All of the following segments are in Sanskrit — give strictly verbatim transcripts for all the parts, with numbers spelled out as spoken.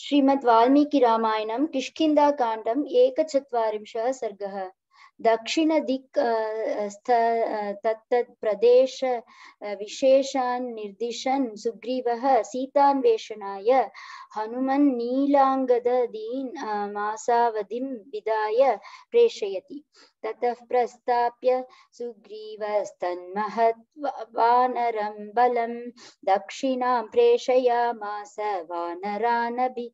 श्रीमद् वाल्मीकि रामायणं किष्किन्धाकाण्डम् एकचत्वारिंशः सर्गः। दक्षिण दिक् स्थ तत्तत् प्रदेश विशेषान् निर्दिशन् सुग्रीवः सीतान्वेषणाय हनुमन् नीलाङ्गदीन् मासावधिं विदाय प्रेषयति। ततः प्रस्थाप्य सुग्रीवस्तन्महत् वानरं बलं दक्षिणां प्रेषयामास वानरानभि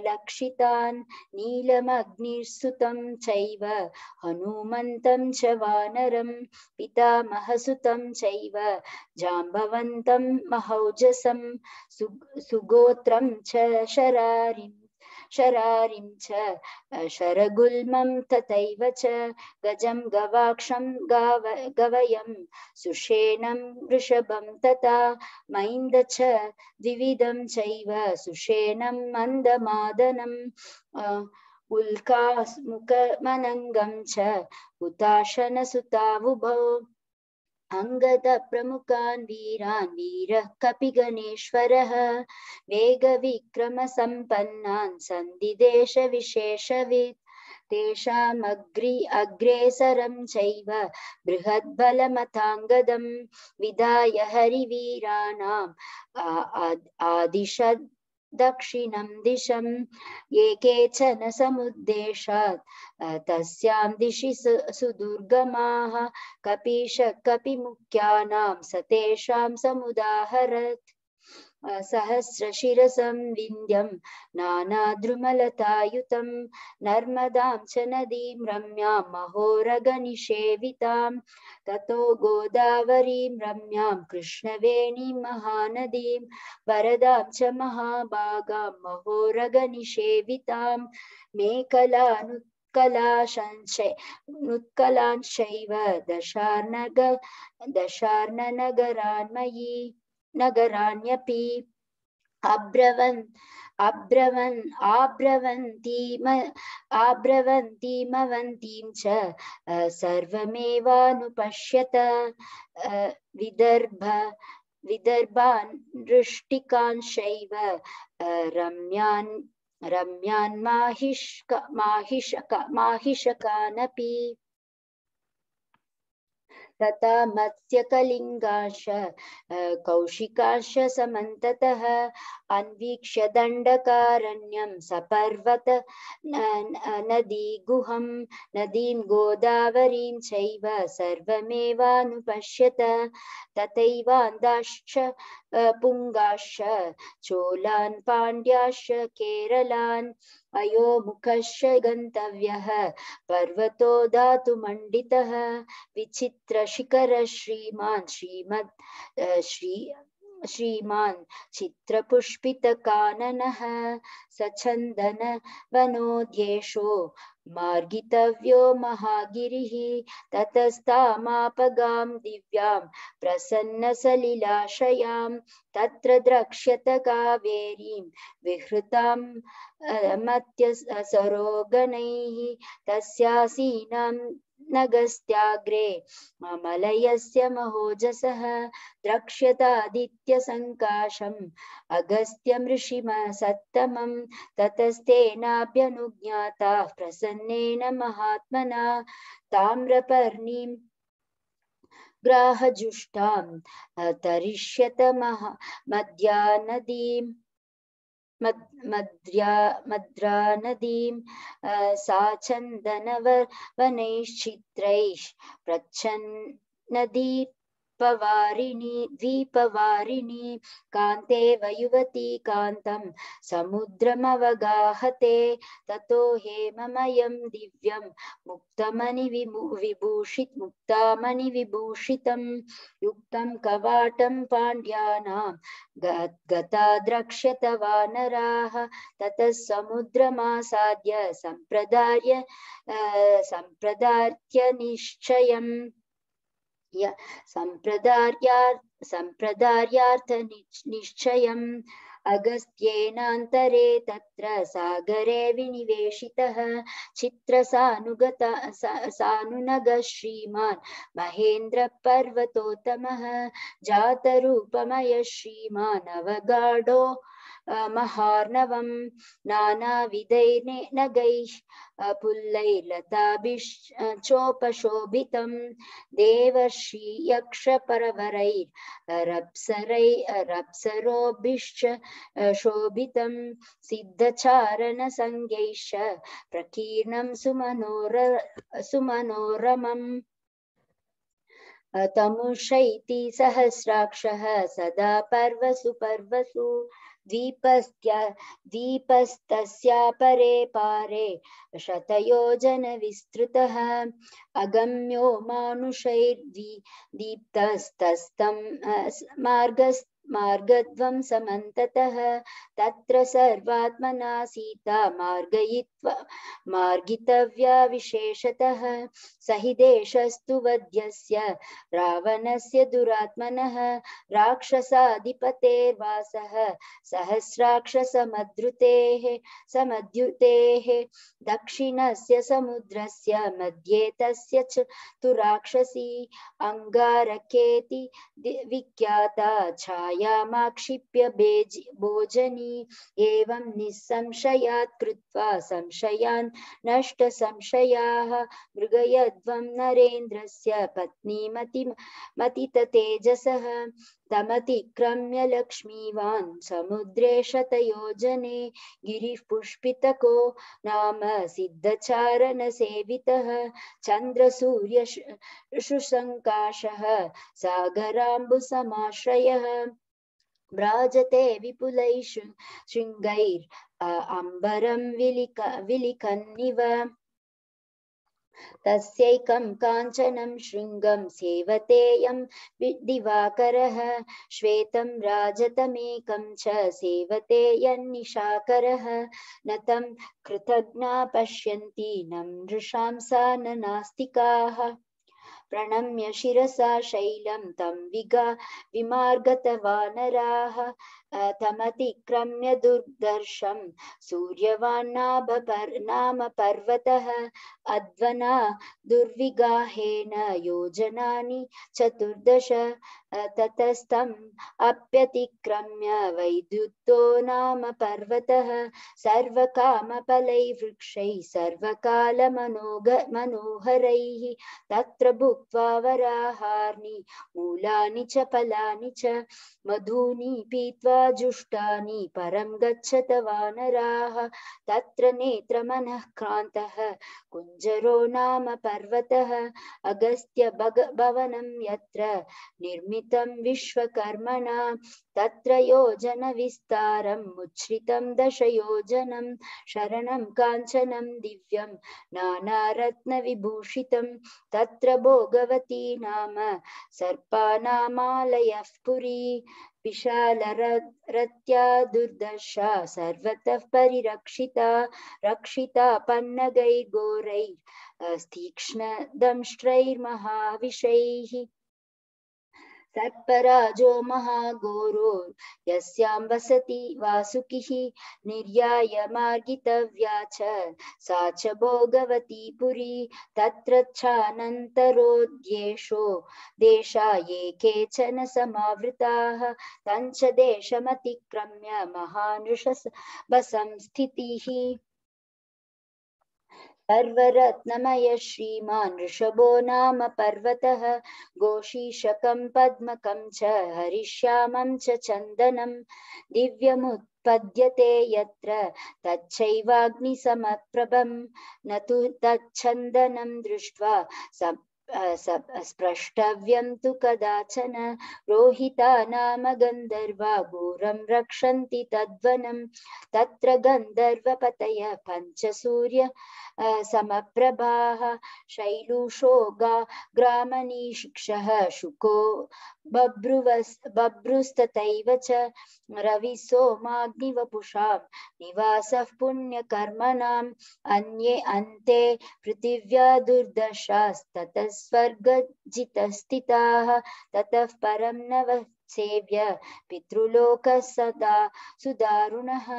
लक्षितान् नीलमग्निसुतं चैव हनुमन्तं च वानरं पितामहसुतं चैव जाम्बवन्तं महौजसं सुगोत्रं च शरारिं शरारिं च शरगुल्मं तथैव च गजं गवाक्षं गाव गवयं सुषेणं वृषभं तथा मैन्द च द्विविधं चैव सुषेणं मन्दमादनम् उल्कामुखमनङ्गं च हुताशनसुतावुभौ अङ्गदप्रमुखान् वीरान् वीरः कपिगणेश्वरः वेगविक्रमसम्पन्नान् सन्धिदेशविशेषवित् तेषामग्रि अग्रेसरं चैव बृहद्बलमथाङ्गदं विधाय हरिवीराणाम् आदिशत् दक्षिणं दिशं ये केचन समुद्देशात् तस्यां दिशि सुदुर्गमाः कपीश कपिमुख्यानां सतेषां समुदाहरत् सहस्रशिरसं विन्ध्यं नानाद्रुमलतायुतं नर्मदां च नदीं रम्यां महोरगनिषेवितां ततो गोदावरीं रम्यां कृष्णवेणीं महानदीं वरदां च महाभागां महोरगनिषेवितां मेखलानु नुत्कलांश्चैव दशार्णग दशार्णनगरान्मयी नगराण्यपि अब्रवन् अब्रवन् आब्रवन्तीम आब्रवन्तीमवन्तीं च सर्वमेवानुपश्यत विदर्भ विदर्भान् वृष्टिकांश्चैव रम्यान् रम्यान् माहिष्क माहिषक माहिषकानपि तथा मत्स्यकलिङ्गाश्च कौशिकाश्च समन्ततः अन्वीक्ष्य दण्डकारण्यं सपर्वत नदीगुहं नदीं गोदावरीं चैव सर्वमेवानुपश्यत तथैवान्दाश्च पुङ्गाश्च चोलान् पाण्ड्याश्च केरलान् अयोमुखश्च गन्तव्यः पर्वतो धातुमण्डितः विचित्रशिखर श्रीमान् श्रीमद् श्री श्रीमान् चित्रपुष्पितकाननः सचन्दन वनोद्येशो मार्गितव्यो महागिरिः ततस्तामापगां दिव्यां प्रसन्नसलिलाशयां तत्र द्रक्ष्यत कावेरीं विहृतां मत्यसरोगणैः तस्यासीनां नगस्त्याग्रे मलयस्य महोजसः द्रक्ष्यतादित्यसङ्काशम् अगस्त्यं ऋषिमसत्तमं ततस्तेनाभ्यनुज्ञाताः प्रसन्नेन महात्मना ताम्रपर्णीं ग्राहजुष्टां तरिष्यत महा मद्या नदीं मद्र्या मद्रा नदीं सा चन्दनवनैश्चित्रैः प्रच्छन्नदी द्वीपवारिणी द्वीपवारिणी कान्तेव युवती कान्तं समुद्रमवगाहते ततो हेममयं दिव्यं मुक्तमणिविभूषित मुक्तामणिविभूषितं युक्तं कवाटं पाण्ड्यानां गता द्रक्ष्यत वानराः ततः समुद्रमासाद्य सम्प्रदार्य सम्प्रदार्य निश्चयम् सम्प्रदार्यार्थ सम्प्रदार्यार्थ निश्चयम् अगस्त्येनान्तरे तत्र सागरे विनिवेशितः चित्रसानुगता सानुनगः श्रीमान् महेन्द्र पर्वतोत्तमः जातरूपमय श्रीमान् अवगाढो महार्णवं नानाविधैर्नगैः पुल्लैर्लताभिश्चोपशोभितं देवर्षि यक्षपरवरैरप्सरैरप्सरोभिश्च शोभितं सिद्धचारणसंज्ञैश्च प्रकीर्णं सुमनोर सुमनोरमम् तमुषैति सहस्राक्षः सदा पर्वसु पर्वसु द्वीपस्त्या द्वीपस्तस्यापरे पारे शतयोजनविस्तृतः अगम्यो मानुषैर्द्वी दीप्तस्तस्तं मार्गस् मार्गध्वं समन्ततः तत्र सर्वात्मना सीता मार्गयित्वा मार्गितव्या विशेषतः स हि देशस्तु वध्यस्य रावणस्य दुरात्मनः राक्षसाधिपतेर्वासः सहस्राक्षसमद्रुतेः समद्युतेः दक्षिणस्य समुद्रस्य मध्ये तस्य च तु राक्षसी अंगारकेति विख्याता छायामाक्षिप्य भोजनी एवं निस्संशयात् कृत्वा संशयान् नष्ट संशयाः मृगयध्वं नरेन्द्रस्य पत्नी मति मतिततेजसः तमतिक्रम्य लक्ष्मीवान् समुद्रे शतयोजने गिरिः पुष्पितको नाम सिद्धचारणसेवितः चन्द्रसूर्यशुशङ्काशः सागराम्बुसमाश्रयः व्राजते विपुलैः शृङ्गैः अम्बरं विलिक विलिखन्निव तस्यैकं काञ्चनं शृङ्गं सेवतेयं दिवाकरः श्वेतं राजतमेकं च सेवते यन्निशाकरः न तं कृतज्ञा पश्यन्ति न नृशांसा न नास्तिकाः प्रणम्य शिरसा शैलं तं विगा विमार्गतवानराः तमतिक्रम्य दुर्दर्शं सूर्यवान्नाभ नाम पर्वतः अध्वना दुर्विगाहेन योजनानि चतुर्दश ततस्तम् अप्यतिक्रम्य वैद्युतो नाम पर्वतः सर्वकामफलैर्वृक्षैः सर्वकालमनोहरैः तत्र भुक्त्वा वराहार्नि मूलानि च फलानि च मधूनि पीत्वा जुष्टानि परं गच्छत वानराः तत्र नेत्रमनः क्रान्तः कुञ्जरो नाम पर्वतः अगस्त्य भवनं यत्र निर्मितं विश्वकर्मणा तत्र योजन विस्तारं मुच्छ्रितं दशयोजनं शरणं काञ्चनं दिव्यं नानारत्नविभूषितं तत्र भोगवती नाम सर्पानामालयः पुरी विशालरत्या दुर्दशा सर्वतः परिरक्षिता रक्षिता पन्नगैर्घोरैः तीक्ष्णदंष्ट्रैर्महाविषैः सर्पराजो महाघोरो यस्यां वसति वासुकिः निर्याय मार्गितव्या च सा च भोगवती पुरी तत्र चानन्तरोद्येषो देशा ये केचन समावृताः तञ्च देशमतिक्रम्य महानृषभसंस्थितिः सर्वरत्नमय श्रीमान् ऋषभो नाम पर्वतः गोशीशकं पद्मकं च हरिश्यामं च चन्दनं दिव्यमुत्पद्यते यत्र तच्चैवाग्निसमप्रभं न तु तच्छन्दनं दृष्ट्वा स्प्रष्टव्यं तु कदाचन रोहिता नाम गन्धर्वा घोरं रक्षन्ति तद्वनं तत्र गन्धर्वपतयः पञ्चसूर्य समप्रभाः शैलूषो ग्रामनीशिक्षः शुको बभ्रुस्तथैव च रविसोमाग्निवपुषां निवासः पुण्यकर्मणाम् अन्ये अन्ते पृथिव्या दुर्दशास्ततः स्वर्गजितस्थिताः ततः परं नव सेव्य पितृलोकः सदा सुदारुणः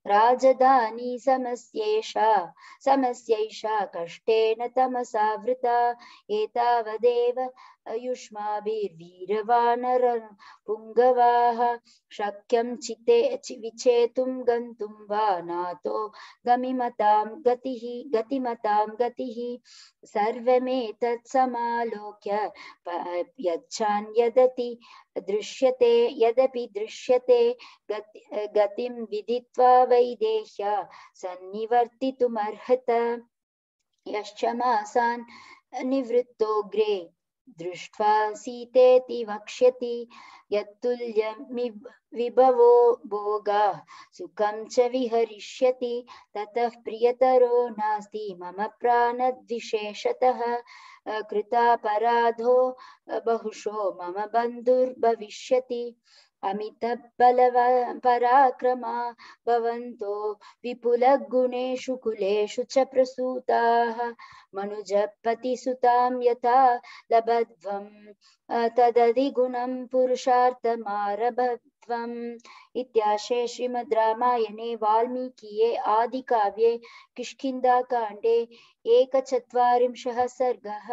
राजधानी समस्येषा समस्यैषा कष्टेन तमसावृता एतावदेव युष्माभिर्वीरवानर पुङ्गवाः शक्यं चिते विचेतुं गन्तुं वा नातो गमिमतां गतिः गतिमतां गतिः सर्वमेतत् समालोक्य यच्छान् यदति दृश्यते यदपि दृश्यते गति गतिं विदित्वा वैदेह्य सन्निवर्तितुमर्हत यश्च मासान् निवृत्तोऽग्रे दृष्ट्वा सीतेति वक्ष्यति यत्तुल्यमिविभवो भोगाः सुखं च विहरिष्यति ततः प्रियतरो नास्ति मम प्राणद्विशेषतः कृतापराधो बहुशो मम बन्धुर्भविष्यति अमितबलपराक्रमा भवन्तो विपुलगुणेषु कुलेषु च प्रसूताः मनुजपतिसुतां यथा लभध्वं तदधिगुणं पुरुषार्थमारभध्वम् इत्याशे श्रीमद् रामायणे वाल्मीकिये आदिकाव्ये किष्किन्धाकाण्डे एकचत्वारिंशः सर्गः।